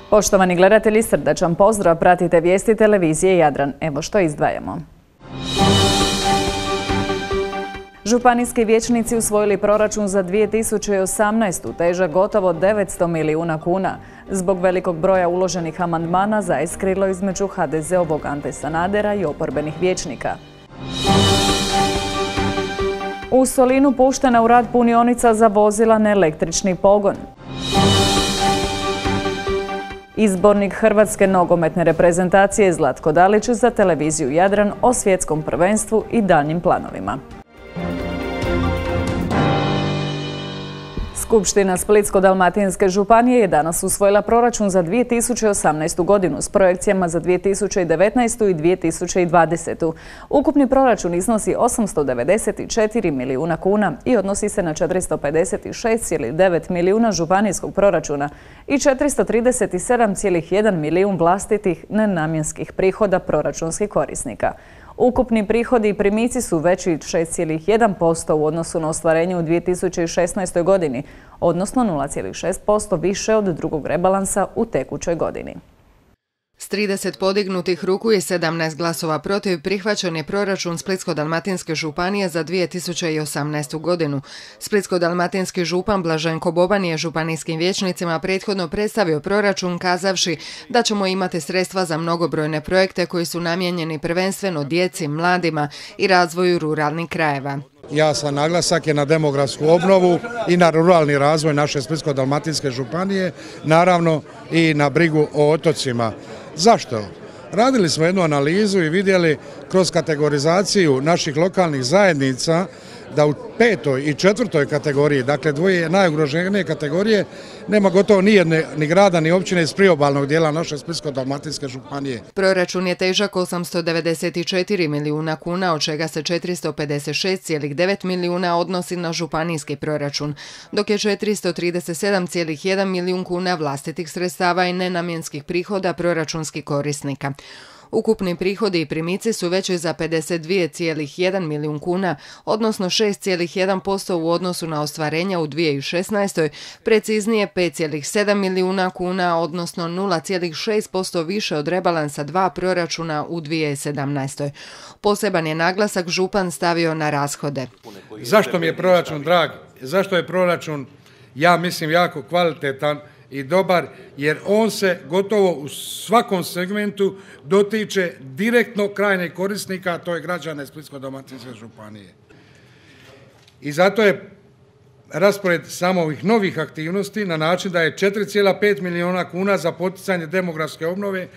Poštovani gledatelji, srdačan pozdrav, pratite vijesti televizije Jadran. Evo što izdvajamo. Županijski vijećnici usvojili proračun za 2018. težak gotovo 900 milijuna kuna. Zbog velikog broja uloženih amandmana zaiskrilo između HDZ-ovog Ante Sanadera i oporbenih vijećnika. U Solinu puštena u rad punionica za vozila na električni pogon. Izbornik Hrvatske nogometne reprezentacije Zlatko Dalić za televiziju Jadran o svjetskom prvenstvu i daljnjim planovima. Skupština Splitsko-dalmatinske županije je danas usvojila proračun za 2018. godinu s projekcijama za 2019. i 2020. Ukupni proračun iznosi 894 milijuna kuna i odnosi se na 456,9 milijuna županijskog proračuna i 437,1 milijun vlastitih nenamjenskih prihoda proračunskih korisnika. Ukupni prihodi i primici su veći 6,1% u odnosu na ostvarenje u 2016. godini, odnosno 0,6% više od drugog rebalansa u tekućoj godini. S 30 podignutih ruku i 17 glasova protiv prihvaćen je proračun Splitsko-dalmatinske županije za 2018. godinu. Splitsko-dalmatinski župan Blaženko Boban je županijskim vijećnicima prethodno predstavio proračun kazavši da ćemo imati sredstva za mnogobrojne projekte koji su namijenjeni prvenstveno djeci, mladima i razvoju ruralnih krajeva. Jasan naglasak je na demografsku obnovu i na ruralni razvoj naše Splitsko-dalmatinske županije, naravno i na brigu o otocima. Zašto? Radili smo jednu analizu i vidjeli kroz kategorizaciju naših lokalnih zajednica da u 5. i 4. kategoriji, dakle dvoje najugroženije kategorije, nema gotovo ni grada ni općine iz priobalnog dijela naše Splitsko-dalmatinske županije. Proračun je težak 894 milijuna kuna, od čega se 456,9 milijuna odnosi na županijski proračun, dok je 437,1 milijun kuna vlastitih sredstava i nenamjenskih prihoda proračunskih korisnika. Ukupni prihodi i primici su veći za 52,1 milijun kuna, odnosno 6,1% u odnosu na ostvarenja u 2016. Preciznije 5,7 milijuna kuna, odnosno 0,6% više od rebalansa 2 proračuna u 2017. Poseban je naglasak župan stavio na rashode. Zašto mi je proračun drag? Zašto je proračun, ja mislim, jako kvalitetan i dobar, jer on se gotovo u svakom segmentu dotiče direktno krajnjeg korisnika, a to je građane Splitsko-dalmatinske županije. I zato je raspored samo ovih novih aktivnosti na način da je 4,5 milijuna kuna za poticanje demografske obnove,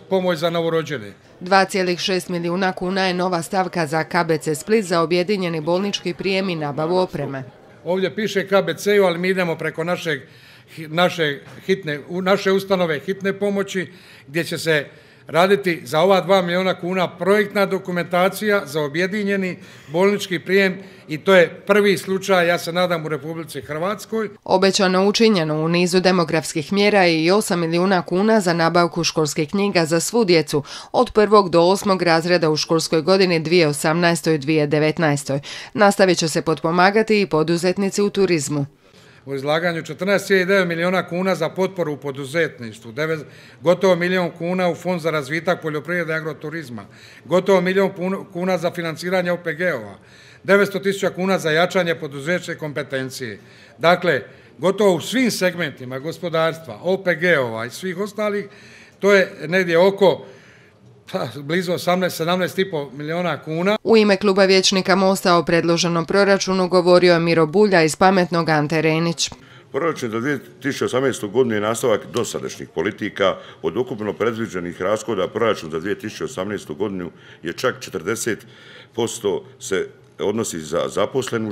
pomoć za novorođene. 2,6 milijuna kuna je nova stavka za KBC Split za objedinjeni bolnički prijem i nabavu opreme. Ovdje piše KBC-u, ali mi idemo preko naše ustanove hitne pomoći, gdje će se raditi za ova 2 milijuna kuna projektna dokumentacija za objedinjeni bolnički prijem i to je prvi slučaj, ja se nadam, u Republici Hrvatskoj. Obećano učinjeno u nizu demografskih mjera je i 8 milijuna kuna za nabavku školskih knjiga za svu djecu od 1. do 8. razreda u školskoj godini 2018. i 2019. Nastavit će se potpomagati i poduzetnici u turizmu. U izlaganju 14,9 milijuna kuna za potporu u poduzetništvu, gotovo milijun kuna u Fond za razvitak poljoprivrede i agroturizma, gotovo milijun kuna za financiranje OPG-ova, 900.000 kuna za jačanje poduzetničke kompetencije. Dakle, gotovo u svim segmentima gospodarstva, OPG-ova i svih ostalih, to je negdje oko blizu 17,5 milijuna kuna. U ime kluba vijećnika Mosta o predloženom proračunu govorio je Miro Bulja iz Pametnog Ante Renić. Proračun za 2018. godinu je nastavak dosadašnjih politika. Od ukupno predviđenih rashoda proračun za 2018. godinu je čak 40% se odnosi za zaposlenu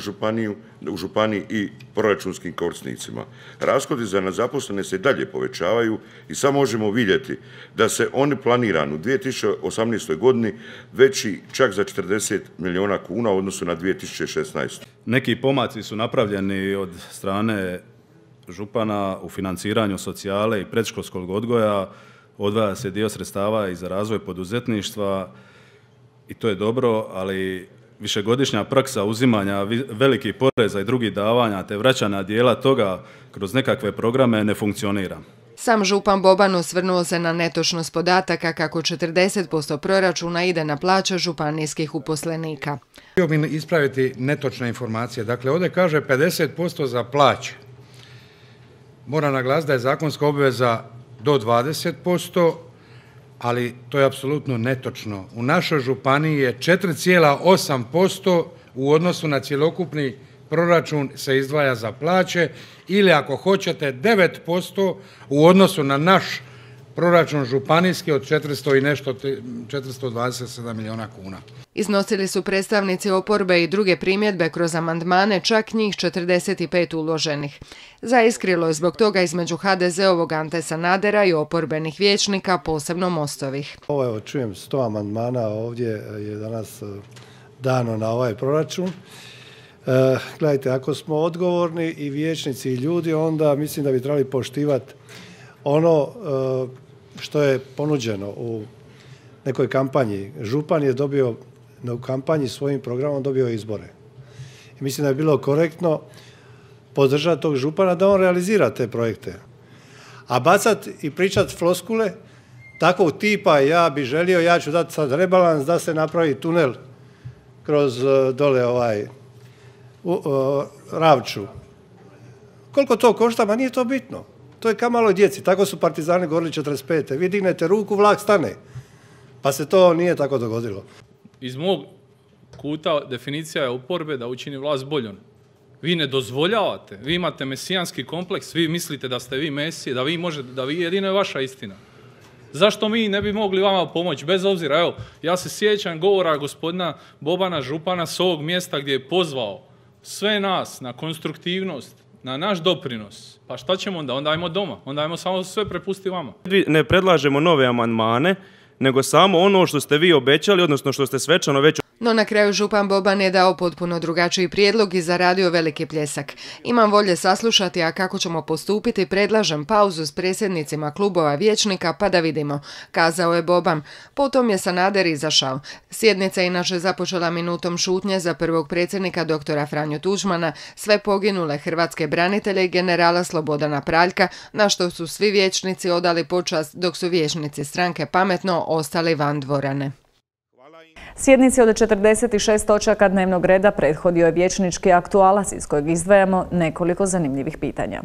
u županiji i proračunskim korisnicima. Rashodi za nezaposlene se i dalje povećavaju i samo možemo vidjeti da se oni planirani u 2018. godini veći čak za 40 milijuna kuna u odnosu na 2016. Neki pomaci su napravljeni od strane župana u financiranju socijale i predškolskog odgoja, odvaja se dio sredstava i za razvoj poduzetništva i to je dobro, ali višegodišnja praksa uzimanja velikih poreza i drugih davanja te vraćanja dijela toga kroz nekakve programe ne funkcionira. Sam župan Boban osvrnuo se na netočnost podataka kako 40% proračuna ide na plaće županijskih uposlenika. Htio bih ispraviti netočne informacije. Dakle, ovdje kaže 50% za plaće. Moram naglasiti da je zakonska obveza do 20%, ali to je apsolutno netočno. U našoj županiji je 4,8% u odnosu na cjelokupni proračun se izdvaja za plaće ili ako hoćete 9% u odnosu na naš proračun županijski od 427 milijuna kuna. Iznosili su predstavnici oporbe i druge primjedbe kroz amandmane, čak njih 45 uloženih. Zaiskrilo je zbog toga između HDZ-ovog Ante Sanadera i oporbenih vijećnika, posebno Mostovih. Evo, čujem 100 amandmana ovdje je danas dano na ovaj proračun. Gledajte, ako smo odgovorni i vijećnici i ljudi, onda mislim da bi trebali poštivati ono što je ponuđeno u nekoj kampanji. Župan je dobio u kampanji svojim programom dobio izbore. I mislim da je bilo korektno podržati tog župana da on realizira te projekte. A bacat i pričat floskule takvog tipa ja bi želio, ja ću dati sad rebalans da se napravi tunel kroz dole Ravču. Koliko to košta? Ma nije to bitno. To je kao maloj djeci. Tako su partizani govorili 45. Vi dignete ruku, vlak stane. Pa se to nije tako dogodilo. Iz mog kuta definicija je oporbe da učini vlast boljom. Vi ne dozvoljavate, vi imate mesijanski kompleks, vi mislite da ste vi mesije, da vi možete, da vi jedino je vaša istina. Zašto mi ne bi mogli vama pomoći? Bez obzira, evo, ja se sjećam govora gospodina Bobana župana s ovog mjesta gdje je pozvao sve nas na konstruktivnost, na naš doprinos. Pa šta ćemo onda? Onda ajmo doma. Onda ajmo samo sve prepustiti vama. Ne predlažemo nove amandmane, nego samo ono što ste vi obećali, odnosno što ste svečano već... No na kraju župan Boban je dao potpuno drugačiji prijedlog i zaradio veliki pljesak. Imam volje saslušati, a kako ćemo postupiti, predlažem pauzu s predsjednicima klubova vijećnika pa da vidimo, kazao je Boban. Potom je Sanader izašao. Sjednica je inače započela minutom šutnje za prvog predsjednika doktora Franju Tuđmana, sve poginule hrvatske branitelje i generala Slobodana Praljka, na što su svi vijećnici odali počast, dok su vijećnici stranke Pametno ostali van dvorane. Sjednici od 46 točaka dnevnog reda prethodio je vijećnički aktualac iz kojeg izdvajamo nekoliko zanimljivih pitanja.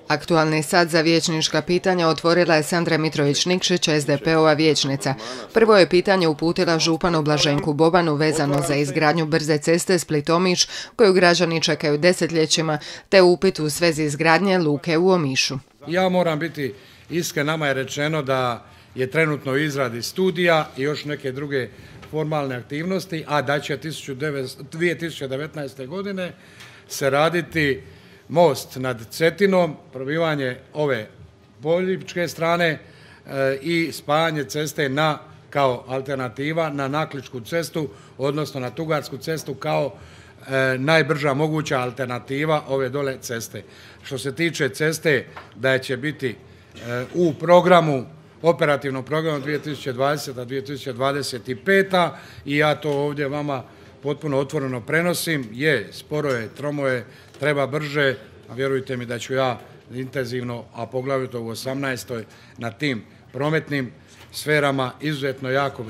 Aktualni sat za vijećnička pitanja otvorila je Sandra Mitrović-Nikšić, SDP-ova vijećnica. Prvo je pitanje uputila županu Blaženku Bobanu vezano za izgradnju brze ceste Split-Omiš, koju građani čekaju desetljećima, te upit u svezi izgradnje luke u Omišu. Ja moram biti iskren, nama je rečeno da je trenutno u izradi studija i još neke druge formalne aktivnosti, a da će 2019. godine se raditi most nad Cetinom, probivanje ove boljičke strane i spajanje ceste kao alternativa na Nakličku cestu, odnosno na Tugarsku cestu kao najbrža moguća alternativa ove dole ceste. Što se tiče ceste, da će biti u programu operativnog programa 2020-2025 i ja to ovdje vama potpuno otvoreno prenosim. Sporo je, tromo je, treba brže, a vjerujte mi da ću ja intenzivno, a poglavito u 18. na tim prometnim sferama izuzetno jako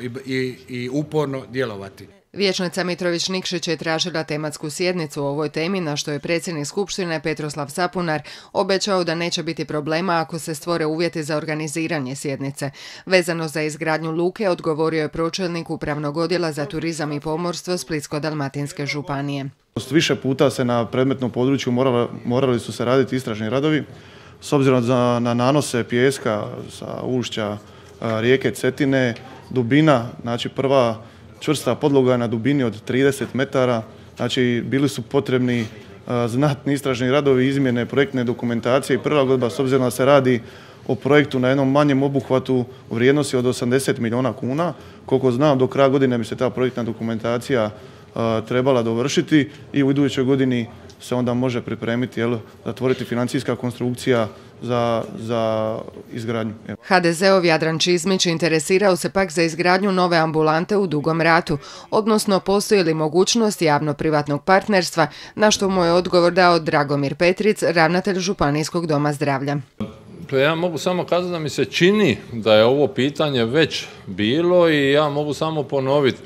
i uporno djelovati. Vijećnica Mitrović-Nikšić je tražila tematsku sjednicu o ovoj temi, na što je predsjednik Skupštine Petroslav Sapunar obećao da neće biti problema ako se stvore uvjeti za organiziranje sjednice. Vezano za izgradnju luke odgovorio je pročelnik Upravnog odjela za turizam i pomorstvo Splitsko-dalmatinske županije. Više puta se na predmetnom području morali su se raditi istražni radovi s obzirom na nanose pijeska sa ušća rijeke Cetine, dubina, znači prva čvrsta podloga na dubini od 30 metara, znači bili su potrebni znatni istražni radovi, izmjene projektne dokumentacije i prilagodba s obzirom da se radi o projektu na jednom manjem obuhvatu u vrijednosti od 80 milijuna kuna. Koliko znam, do kraja godine bi se ta projektna dokumentacija trebala dovršiti i u idućoj godini se onda može pripremiti, zatvoriti financijska konstrukcija za izgradnju. HDZ-ov Jadran Čizmić interesirao se pak za izgradnju nove ambulante u Dugom Ratu, odnosno postoji li mogućnost javno-privatnog partnerstva, na što mu je odgovor dao Dragomir Petric, ravnatelj Županijskog doma zdravlja. Dakle, ja mogu samo kazati da mi se čini da je ovo pitanje već bilo i ja mogu samo ponoviti.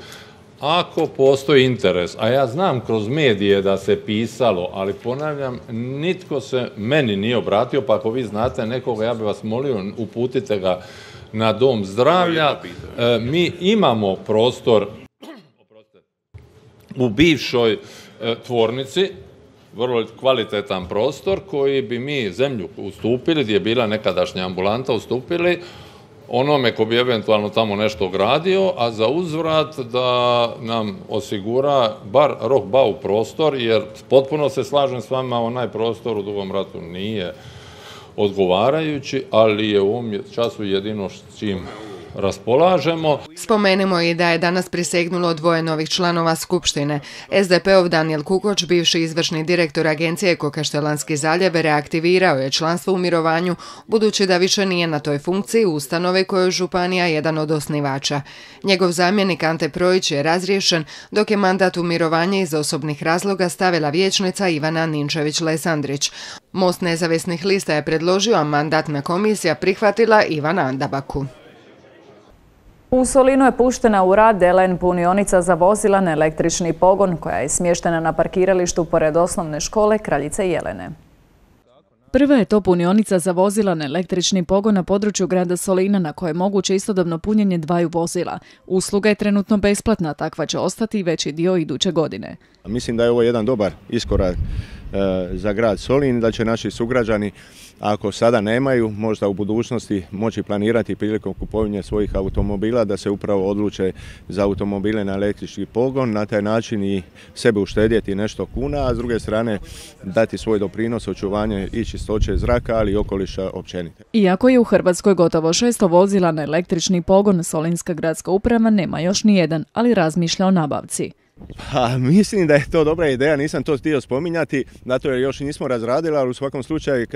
Ako postoji interes, a ja znam kroz medije da se pisalo, ali ponavljam, nitko se meni nije obratio, pa ako vi znate nekoga, ja bih vas molio, uputite ga na dom zdravlja. Mi imamo prostor u bivšoj tvornici, vrlo kvalitetan prostor koji bi mi zemlju ustupili, gdje je bila nekadašnja ambulanta, ustupili onome ko bi eventualno tamo nešto gradio, a za uzvrat da nam osigura bar rok-bau prostor, jer potpuno se slažem s vama, onaj prostor u Dugom Ratu nije odgovarajući, ali je u ovom času jedino s čim raspolažemo. Spomenimo i da je danas prisegnulo 2 novih članova Skupštine. SDP-ov Danijel Kukoč, bivši izvršni direktor agencije Eko-Kaštelanski zaljev, reaktivirao je članstvo u mirovanju, budući da više nije na toj funkciji ustanove koje je županija jedan od osnivača. Njegov zamjenik Ante Projić je razriješen, dok je mandat u mirovanje iz osobnih razloga stavila vijećnica Ivana Ninčević-Lesandrić. Most nezavisnih lista je predložio, a mandatna komisija prihvatila Ivana Andabaku. U Solinu je puštena u rad LN punionica za vozila na električni pogon koja je smještena na parkiralištu pored osnovne škole Kraljice Jelene. Prva je to punionica za vozila na električni pogon na području grada Solina na koje je moguće istodobno punjenje 2 vozila. Usluga je trenutno besplatna, takva će ostati i veći dio iduće godine. Mislim da je ovo jedan dobar iskorak za grad Solin, da će naši sugrađani, ako sada nemaju, možda u budućnosti moći planirati prilikom kupovanja svojih automobila da se upravo odluče za automobile na električni pogon, na taj način i sebe uštedjeti nešto kuna, a s druge strane dati svoj doprinos očuvanje i čistoće zraka, ali i okoliša općenito. Iako je u Hrvatskoj gotovo 600 vozila na električni pogon, Solinska gradska uprava nema još ni jedan, ali razmišlja o nabavci. Pa, mislim da je to dobra ideja, nisam to htio spominjati, zato jer još nismo razradili, ali u svakom slučaju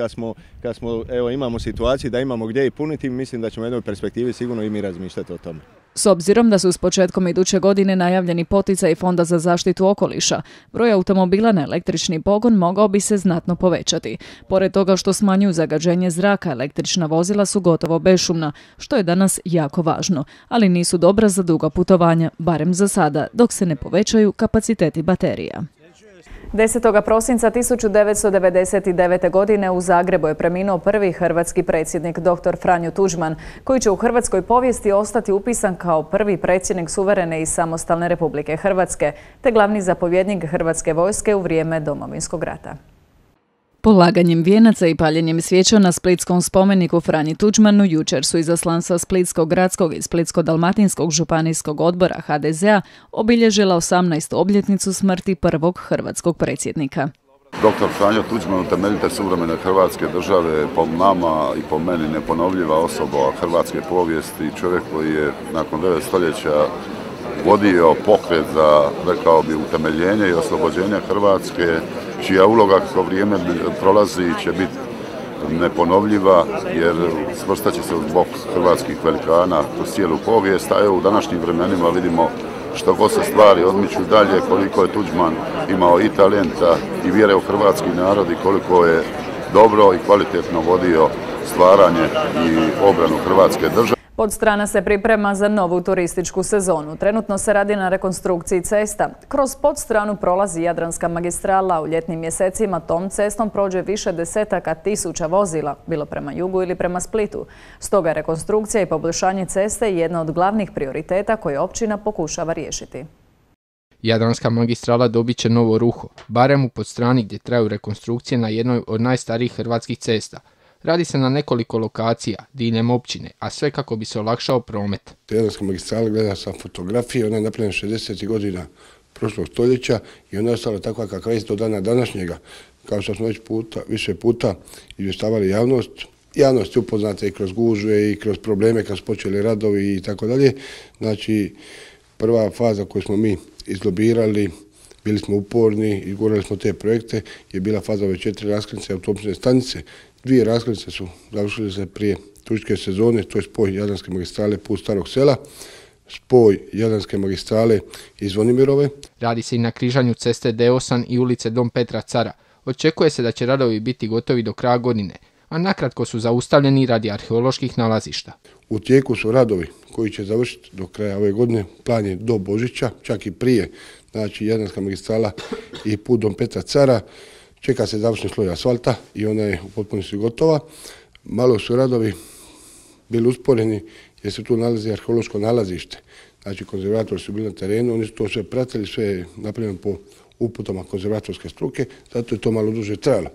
kad smo evo, imamo situaciju da imamo gdje i puniti, mislim da ćemo u jednoj perspektivi sigurno i mi razmišljati o tome. S obzirom da su s početkom iduće godine najavljeni poticaj Fonda za zaštitu okoliša, broj automobila na električni pogon mogao bi se znatno povećati. Pored toga što smanjuju zagađenje zraka, električna vozila su gotovo bešumna, što je danas jako važno, ali nisu dobra za duga putovanja, barem za sada, dok se ne povećaju kapaciteti baterija. 10. prosinca 1999. godine u Zagrebu je preminuo prvi hrvatski predsjednik dr. Franjo Tuđman, koji će u hrvatskoj povijesti ostati upisan kao prvi predsjednik suverene i samostalne Republike Hrvatske, te glavni zapovjednik Hrvatske vojske u vrijeme Domovinskog rata. Polaganjem vijenaca i paljenjem svijeća na splitskom spomeniku Franji Tuđmanu jučer su izaslanstva Splitskog gradskog i Splitsko-dalmatinskog županijskog odbora HDZ-a obilježila 18. obljetnicu smrti prvog hrvatskog predsjednika. Dr. Franjo Tuđman, utemeljitelj suvremene Hrvatske države, po nama i po meni neponovljiva osoba hrvatske povijesti, čovjek koji je nakon 9 stoljeća vodio pokret za, rekao bi, utemeljenje i oslobođenje Hrvatske, čija uloga kako vrijeme prolazi će biti neponovljiva, jer svrstat će se uz bok hrvatskih velikana kroz cijelu povijest, a evo u današnjim vremenima vidimo što god se stvari odmiču dalje, koliko je Tuđman imao i talenta i vjere u hrvatski narod i koliko je dobro i kvalitetno vodio stvaranje i obranu Hrvatske države. Podstrana se priprema za novu turističku sezonu. Trenutno se radi na rekonstrukciji cesta. Kroz Podstranu prolazi Jadranska magistrala. U ljetnim mjesecima tom cestom prođe više desetaka tisuća vozila, bilo prema jugu ili prema Splitu. Stoga rekonstrukcija i poboljšanje ceste je jedna od glavnih prioriteta koje općina pokušava riješiti. Jadranska magistrala dobit će novo ruho, barem u Podstrani gdje traju rekonstrukcije na jednoj od najstarijih hrvatskih cesta. Radi se na nekoliko lokacija, diljem općine, a sve kako bi se olakšao promet. Jadranska magistrala, gleda sam fotografije, ona je napravljena 60. godina prošlog stoljeća i ona je ostala takva kakva je do dana današnjega. Kao što smo već više puta izvještavali javnost. Javnost je upoznata i kroz gužve i kroz probleme kad su počeli radovi i tako dalje. Znači, prva faza koju smo mi izlobirali, bili smo uporni i gurali smo te projekte, je bila faza ove 4 raskrsnice autobusne stanice. 2 raskrsnice su završile se prije turističke sezone, to je spoj Jadranske magistrale put Starog sela, spoj Jadranske magistrale iz Zvonimirove. Radi se i na križanju ceste D8 i ulice Dom Petra Cara. Očekuje se da će radovi biti gotovi do kraja godine. a nakratko su zaustavljeni radi arheoloških nalazišta. U tijeku su radovi koji će završiti do kraja ove godine, plan je do Božića, čak i prije, znači Jadranska magistrala i put Dom Petra Cara, čeka se završni sloj asfalta i ona je u potpunosti gotova. Malo su radovi bili usporeni jer se tu nalazi arheološko nalazište. Znači konzervatori su bili na terenu, oni su to sve pratili, sve je napravljeno po uputama konzervatorske struke, zato je to malo duže trajalo.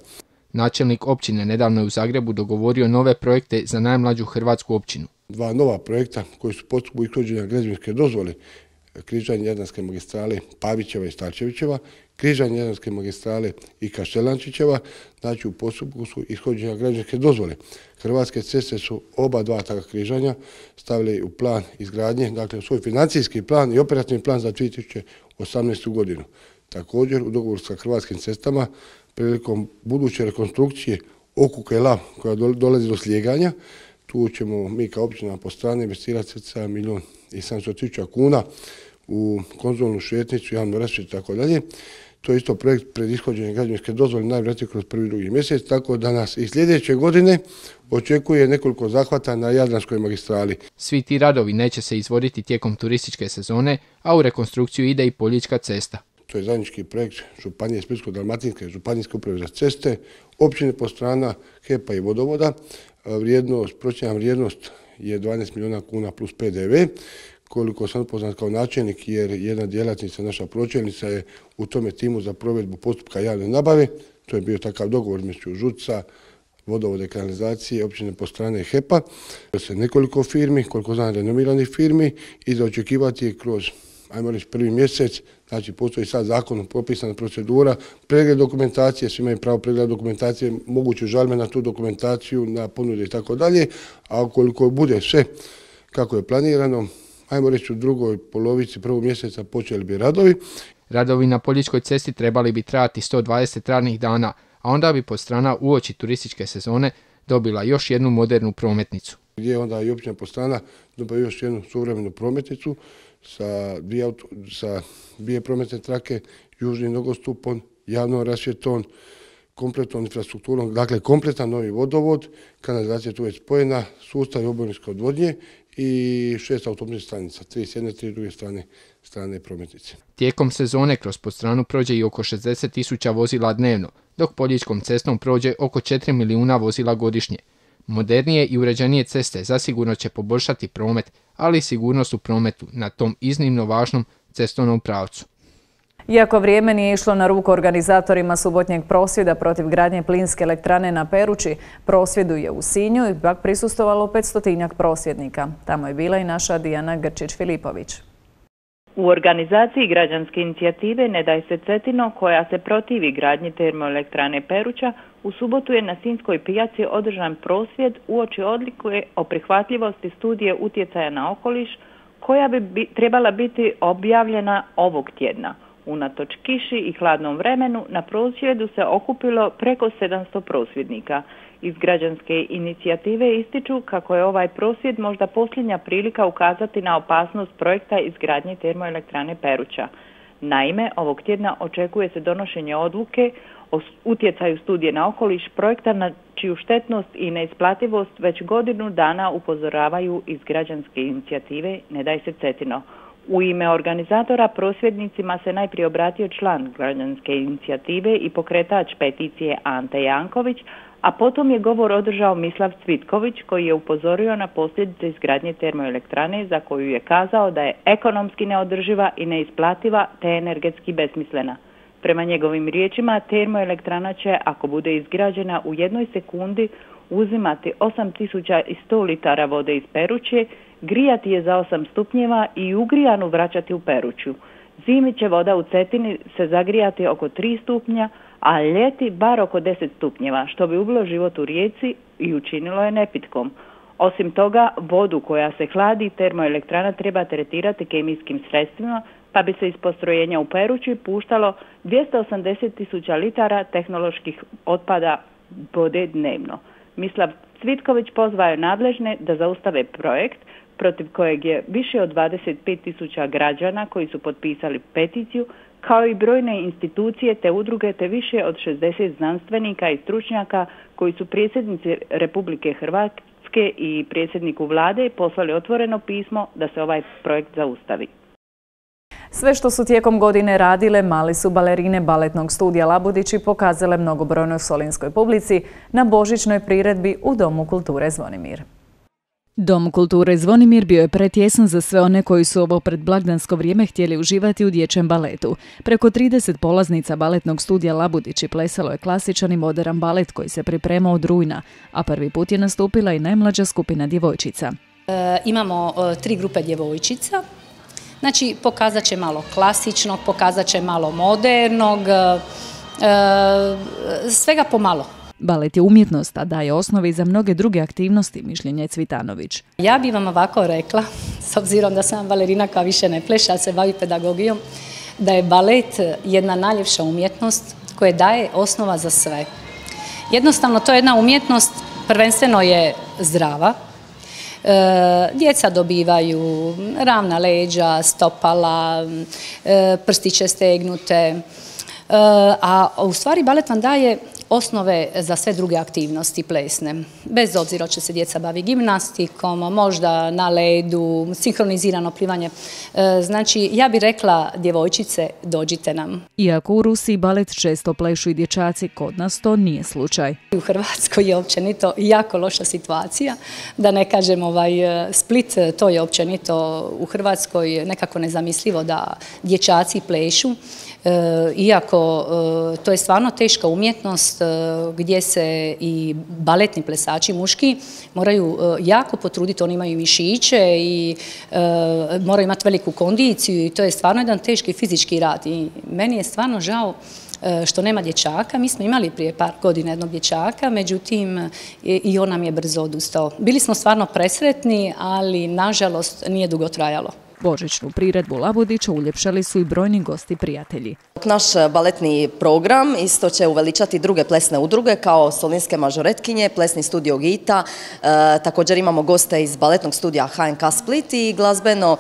Načelnik općine nedavno je u Zagrebu dogovorio nove projekte za najmlađu hrvatsku općinu. 2 nova projekta koji su postupku ishođenja građevinske dozvole, križanje Jadranske magistrale Pavićeva i Starčevićeva, križanje Jadranske magistrale i Kaštelančićeva, znači u postupku su ishođenja građevinske dozvole. Hrvatske ceste su oba dva takva križanja stavili u plan izgradnje, dakle u svoj financijski plan i operativni plan za 2018. godinu. Također u dogovoru sa Hrvatskim cestama prilikom buduće rekonstrukcije Okuka i Lav koja dolazi do slijeganja, tu ćemo mi kao općina po strani investirati 1.700.000 kuna u konzolnu šetnicu, javnu rasvjetu i tako dalje. To je isto projekt pred ishođenjem građevinske dozvole najvjerojatnije kroz 1. i 2. mjesec, tako da nas i sljedeće godine očekuje nekoliko zahvata na Jadranskoj magistrali. Svi ti radovi neće se izvoditi tijekom turističke sezone, a u rekonstrukciju ide i Poljička cesta. To je zajednički projekt Županije Splitsko-dalmatinske, Županijske uprave za ceste, općine Podstrana, HEP-a i Vodovoda. Procjena vrijednost je 12 milijuna kuna plus PDV. Koliko sam upoznat kao načelnik, jer jedna djelatnica, naša pročelnica, je u tome timu za provedbu postupka javne nabave. To je bio takav dogovor među ŽUC-a, Vodovode, kanalizacije, općine Podstrana i HEP-a. Nekoliko firmi, koliko znam renomiranih firmi, i za očekivati je kroz, ajmo reći, 1. mjesec, znači postoji sad zakonom propisana procedura, pregled dokumentacije, svi imaju pravo pregleda dokumentacije, moguće žalbe na tu dokumentaciju, na ponude i tako dalje, a ukoliko bude sve kako je planirano, ajmo reći u drugoj polovici 1. mjeseca počeli bi radovi. Radovi na Poljičkoj cesti trebali bi trajati 120 radnih dana, a onda bi Podstrana uoči turističke sezone dobila još jednu modernu prometnicu. Gdje onda i općina Podstrana dobila još jednu suvremenu prometnicu sa dvije prometne trake, južnim nogostupom, javnom rasvjetom, kompletnom infrastrukturom, dakle kompletan novi vodovod, kanalizacija tu je spojena, sustav oborinske odvodnje i 6 autobusnih stanica, 3 s jedne, 3 druge strane prometnice. Tijekom sezone kroz Podstranu prođe i oko 60.000 vozila dnevno, dok Poljičkom cestom prođe oko 4 milijuna vozila godišnje. Modernije i uređenije ceste zasigurno će poboljšati promet, ali i sigurnost u prometu na tom iznimno važnom cestovnom pravcu. Iako vrijeme nije išlo na ruku organizatorima subotnjeg prosvjeda protiv gradnje plinske elektrane na Peruči, prosvjedu je u Sinju ipak prisustvovalo 500-tinjak prosvjednika. Tamo je bila i naša Dijana Grčić-Filipović. U organizaciji građanske inicijative Ne daj se Cetino, koja se protivi gradnji termoelektrane Peruča, u subotu je na Sinjskoj pijaci održan prosvjed uoči odluke o prihvatljivosti studije utjecaja na okoliš, koja bi trebala biti objavljena ovog tjedna. Unatoč kiši i hladnom vremenu, na prosvjedu se okupilo preko 700 prosvjednika. Iz građanske inicijative ističu kako je ovaj prosvjed možda posljednja prilika ukazati na opasnost projekta izgradnje termoelektrane Peruča. Naime, ovog tjedna očekuje se donošenje odluke o utjecaju studije na okoliš projekta na čiju štetnost i neisplativost već godinu dana upozoravaju iz građanske inicijative Ne daj se Cetino. U ime organizatora prosvjednicima se najprije obratio član građanske inicijative i pokretač peticije Ante Janković, a potom je govor održao Mislav Cvitković koji je upozorio na posljedice izgradnje termoelektrane za koju je kazao da je ekonomski neodrživa i neisplativa te energetski besmislena. Prema njegovim riječima, termoelektrana će, ako bude izgrađena u 1 sekundi, uzimati 8100 litara vode iz Peruče, grijati je za 8 stupnjeva i ugrijanu vraćati u Peruču. Zimi će voda u Cetini se zagrijati oko 3 stupnja, a ljeti bar oko 10 stupnjeva, što bi ubilo život u rijeci i učinilo je nepitkom. Osim toga, vodu koja se hladi termoelektrana treba tretirati kemijskim sredstvima, pa bi se iz postrojenja u Peruči puštalo 280.000 litara tehnoloških otpada vode dnevno. Mislav Cvitković pozvao je nadležne da zaustave projekt protiv kojeg je više od 25.000 građana koji su potpisali peticiju, kao i brojne institucije te udruge te više od 60 znanstvenika i stručnjaka koji su predsjednici Republike Hrvatske i predsjedniku vlade poslali otvoreno pismo da se ovaj projekt zaustavi. Sve što su tijekom godine radile, mali su balerine baletnog studija Labudići pokazale mnogobrojnoj solinskoj publici na božićnoj priredbi u Domu kulture Zvonimir. Dom kulture Zvonimir bio je pretjesan za sve one koji su ovo predblagdansko vrijeme htjeli uživati u dječjem baletu. Preko 30 polaznica baletnog studija Labudići plesalo je klasičan i moderan balet koji se pripremao od rujna, a prvi put je nastupila i najmlađa skupina djevojčica. Imamo 3 grupe djevojčica. Znači, pokazat će malo klasičnog, pokazat će malo modernog, svega pomalo. Balet je umjetnost, a daje osnove i za mnoge druge aktivnosti, mišljenje Cvitanović. Ja bih vam ovako rekla, s obzirom da sam balerina koja više ne pleše, a se bavi pedagogijom, da je balet jedna najljepša umjetnost koja daje osnova za sve. Jednostavno, to je jedna umjetnost, prvenstveno je zdrava. Djeca dobivaju ravna leđa, stopala, prstiće stegnute, a u stvari balet vam daje osnove za sve druge aktivnosti plesne. Bez obzira će se djeca bavi gimnastikom, možda na ledu, sinkronizirano plivanje. Znači, ja bih rekla, djevojčice, dođite nam. Iako u Rusiji balet često plešu i dječaci, kod nas to nije slučaj. U Hrvatskoj je općenito jako loša situacija, da ne kažem Split, to je općenito u Hrvatskoj nekako nezamislivo da dječaci plešu. Iako to je stvarno teška umjetnost gdje se i baletni plesači muški moraju jako potruditi, oni imaju mišiće i moraju imati veliku kondiciju i to je stvarno jedan teški fizički rad i meni je stvarno žao što nema dječaka. Mi smo imali prije par godina jednog dječaka, međutim i on nam je brzo odustao. Bili smo stvarno presretni, ali nažalost nije dugo trajalo. Božićnu priredbu Labudića uljepšali su i brojni gosti prijatelji. Naš baletni program isto će uveličati druge plesne udruge kao solinske mažoretkinje, plesni studio Gita, također imamo goste iz baletnog studija HNK Split i glazbeno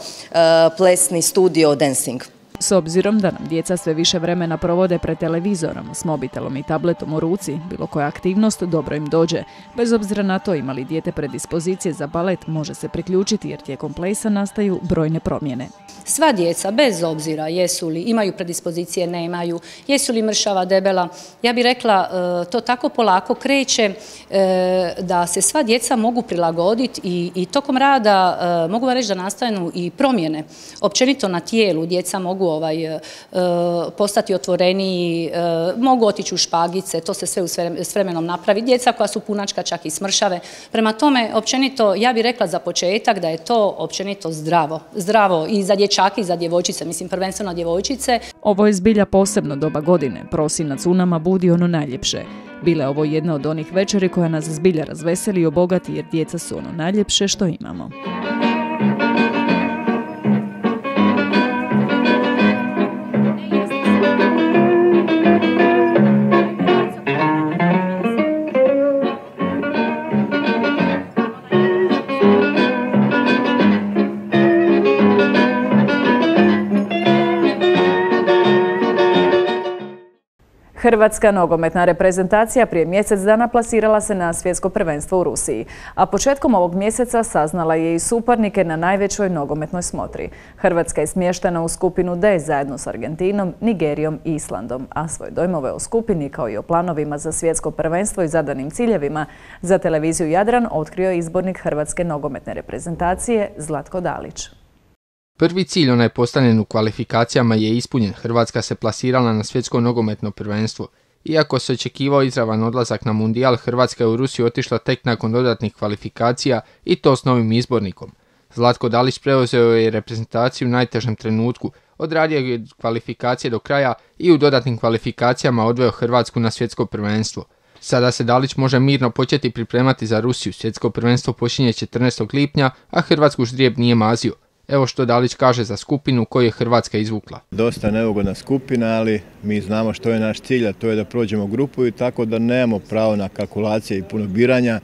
plesni studio Dancing. S obzirom da nam djeca sve više vremena provode pred televizorom, s mobitelom i tabletom u ruci, bilo koja aktivnost dobro im dođe. Bez obzira na to ima li dijete predispozicije za balet, može se priključiti jer tijekom plesa nastaju brojne promjene. Sva djeca, bez obzira jesu li, imaju predispozicije, nemaju, jesu li mršava, debela, ja bih rekla to tako polako kreće da se sva djeca mogu prilagoditi i tokom rada mogu vam reći da nastanu i promjene. Općenito na tijelu djeca mogu postati otvoreniji, mogu otići u špagice, to se sve s vremenom napravi. Djeca koja su punačka čak i smršave. Prema tome, općenito, ja bih rekla za početak da je to općenito zdravo. Zdravo i za dječake i za djevojčice, mislim prvenstveno djevojčice. Ovo je zbilja posebno doba godine. Prosinac u nama budi ono najljepše. Bila je ovo jedna od onih večeri koja nas zbilja razveseli i obogati jer djeca su ono najljepše što imamo. Hrvatska nogometna reprezentacija prije mjesec dana plasirala se na svjetsko prvenstvo u Rusiji, a početkom ovog mjeseca saznala je i suparnike na najvećoj nogometnoj smotri. Hrvatska je smještena u skupinu D zajedno s Argentinom, Nigerijom i Islandom, a svoje dojmove o skupini kao i o planovima za svjetsko prvenstvo i zadanim ciljevima za televiziju Jadran otkrio je izbornik Hrvatske nogometne reprezentacije Zlatko Dalić. Prvi cilj, onaj postavljen u kvalifikacijama, je ispunjen. Hrvatska se plasirala na svjetsko nogometno prvenstvo. Iako se očekivao izravan odlazak na mundijal, Hrvatska je u Rusiju otišla tek nakon dodatnih kvalifikacija i to s novim izbornikom. Zlatko Dalić preuzeo je reprezentaciju u najtežem trenutku, odradio je kvalifikacije do kraja i u dodatnim kvalifikacijama odveo Hrvatsku na svjetsko prvenstvo. Sada se Dalić može mirno početi pripremati za Rusiju. Svjetsko prvenstvo počinje 14. lipnja, a Hrvatsku ždrijeb nije mazio. Evo što Dalić kaže za skupinu koju je Hrvatska izvukla. Dosta neugodna skupina, ali mi znamo što je naš cilj, a to je da prođemo grupu i tako da nemamo pravo na kalkulacije i puno biranja.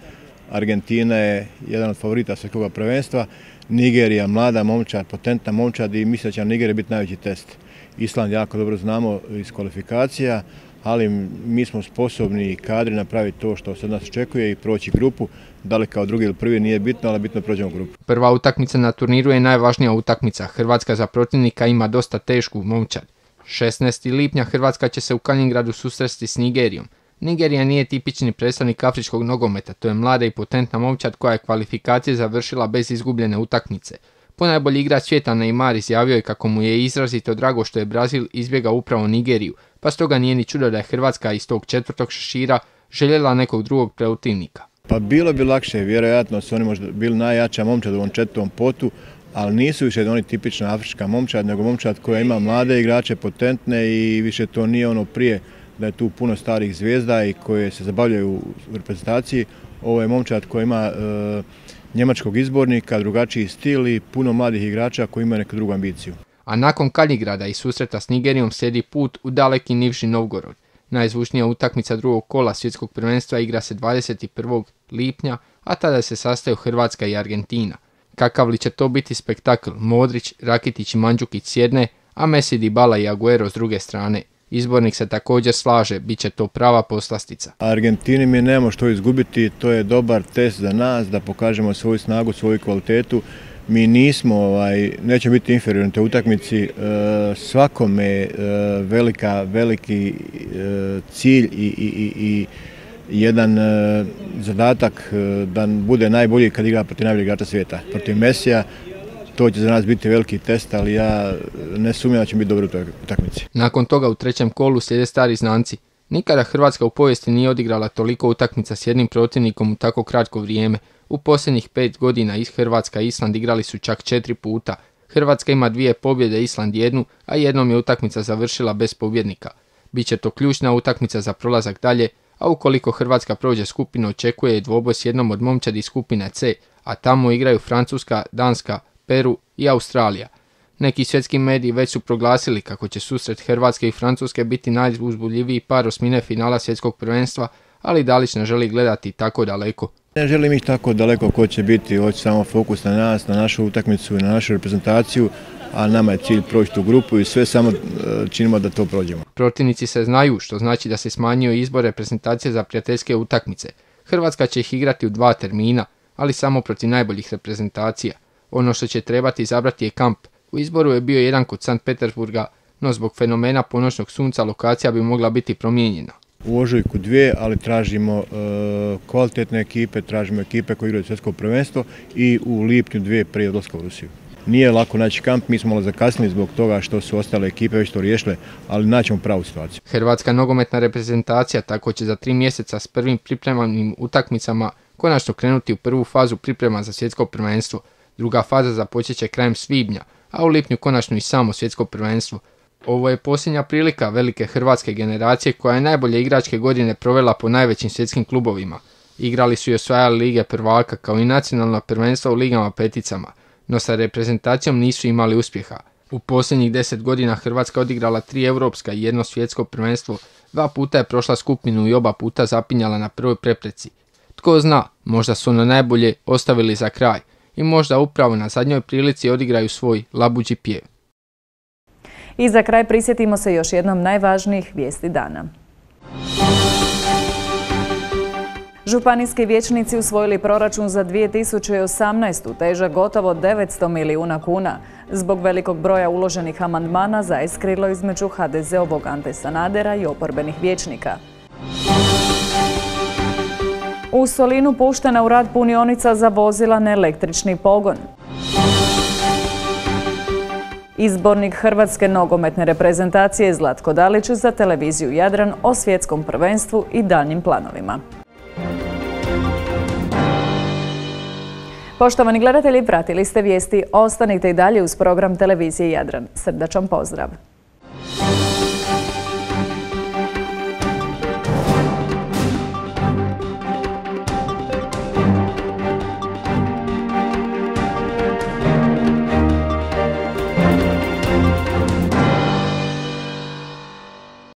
Argentina je jedan od favorita svjetskog prvenstva, Nigerija, mlada momčad, potentna momčad i mislim da će Nigerija biti najveći test. Island jako dobro znamo iz kvalifikacija, ali mi smo sposobni i kadri napraviti to što se od nas očekuje i proći grupu. Da li kao drugi ili prvi nije bitno, ali bitno prođemo grupu. Prva utakmica na turniru je najvažnija utakmica. Hrvatska za protivnika ima dosta tešku momčad. 16. lipnja Hrvatska će se u Kaliningradu susresti s Nigerijom. Nigerija nije tipični predstavnik afričkog nogometa, to je mlada i potentna momčad koja je kvalifikacije završila bez izgubljene utakmice. Ponajbolji igrač svijeta Neymar izjavio je kako mu je izrazito drago što je Brazil izbjegao upravo Nigeriju, pa stoga nije ni čudo da je Hrvatska iz tog četvrtog šešira željela nekog drugog protivnika. Pa bilo bi lakše, vjerojatno su oni možda bili najjača momčad u ovom četvrtom potu, ali nisu više oni tipična afrička momčad, nego momčad koja ima mlade igrače, potentne i više to nije ono prije da je tu puno starih zvijezda i koje se zabavljaju u reprezentaciji. Ovo je momčad koja ima njemačkog izbornika, drugačiji stil i puno mladih igrača koji imaju neku drugu ambiciju. A nakon Kaliningrada i susreta s Nigerijom slijedi put u daleki Nivži Novgorod. Najzvučnija utakmica drugog kola svjetskog prvenstva igra se 21. lipnja, a tada se sastaju Hrvatska i Argentina. Kakav li će to biti spektakl? Modrić, Rakitić i Mandžukić s jedne, a Messi, Dybala i Aguero s druge strane. Izbornik se također slaže, bit će to prava poslastica. Argentini mi nemamo što izgubiti, to je dobar test za nas da pokažemo svoju snagu, svoju kvalitetu. Mi nismo, neće biti inferiorni u toj utakmici, svakome veliki cilj i jedan zadatak da bude najbolji kad igra protiv najboljeg igrača svijeta. Protiv Messija to će za nas biti veliki test, ali ja ne sumnjam da će biti dobro u toj utakmici. Nakon toga u trećem kolu slijede stari znanci. Nikada Hrvatska u povijesti nije odigrala toliko utakmica s jednim protivnikom u tako kratko vrijeme. U posljednjih 5 godina Hrvatska i Island igrali su čak 4 puta. Hrvatska ima 2 pobjede, Island 1, a jednom je utakmica završila bez pobjednika. Biće to ključna utakmica za prolazak dalje, a ukoliko Hrvatska prođe skupinu očekuje je dvoboj s jednom od momčadi skupine C, a tamo igraju Francuska, Danska, Peru i Australija. Neki svjetski mediji već su proglasili kako će susret Hrvatske i Francuske biti najuzbudljiviji par osmine finala svjetskog prvenstva, ali Dalić ne želi gledati tako daleko. Ne želim ih tako daleko ko će biti, hoće samo fokus na nas, na našu utakmicu i na našu reprezentaciju, a nama je cilj proći tu grupu i sve samo činimo da to prođemo. Protivnici se znaju, što znači da se smanjio izbor reprezentacije za prijateljske utakmice. Hrvatska će ih igrati u 2 termina, ali samo protiv najboljih reprezentacija. Ono što će trebati izabrati je kamp. U izboru je bio jedan kod Sankt Petersburga, no zbog fenomena ponoćnog sunca lokacija bi mogla biti promijenjena. U ožujku 2, ali tražimo kvalitetne ekipe, tražimo ekipe koje igraju svjetsko prvenstvo i u lipnju 2 prije odlaska u Rusiju. Nije lako naći kamp, mi smo malo zakasnili zbog toga što su ostale ekipe već to riješile, ali naćemo pravu situaciju. Hrvatska nogometna reprezentacija tako će za 3 mjeseca s prvim pripremanim utakmicama konačno krenuti u prvu fazu priprema za svjetsko prvenstvo. Druga faza započet će krajem svibnja, a u lipnju konačno i samo svjetsko prvenstvo. Ovo je posljednja prilika velike hrvatske generacije koja je najbolje igračke godine provela po najvećim svjetskim klubovima. Igrali su i osvajali lige prvaka kao i nacionalna prvenstva u ligama peticama, no sa reprezentacijom nisu imali uspjeha. U posljednjih 10 godina Hrvatska odigrala 3 europska i 1 svjetsko prvenstvo, 2 puta je prošla skupinu i oba puta zapinjala na prvoj prepreci. Tko zna, možda su ono najbolje ostavili za kraj i možda upravo na zadnjoj prilici odigraju svoj labuđi pjev. I za kraj prisjetimo se još jednom najvažnijih vijesti dana. Županijski vijećnici usvojili proračun za 2018. težak gotovo 900 milijuna kuna. Zbog velikog broja uloženih amandmana zaiskrilo između HDZ-ovog Ante Sanadera i oporbenih vijećnika. U Solinu puštena u rad punionica za vozila na električni pogon. Izbornik Hrvatske nogometne reprezentacije Zlatko Dalić za televiziju Jadran o svjetskom prvenstvu i daljnjim planovima. Poštovani gledatelji, pratili ste vijesti. Ostanite i dalje uz program televizije Jadran. Srdačan pozdrav!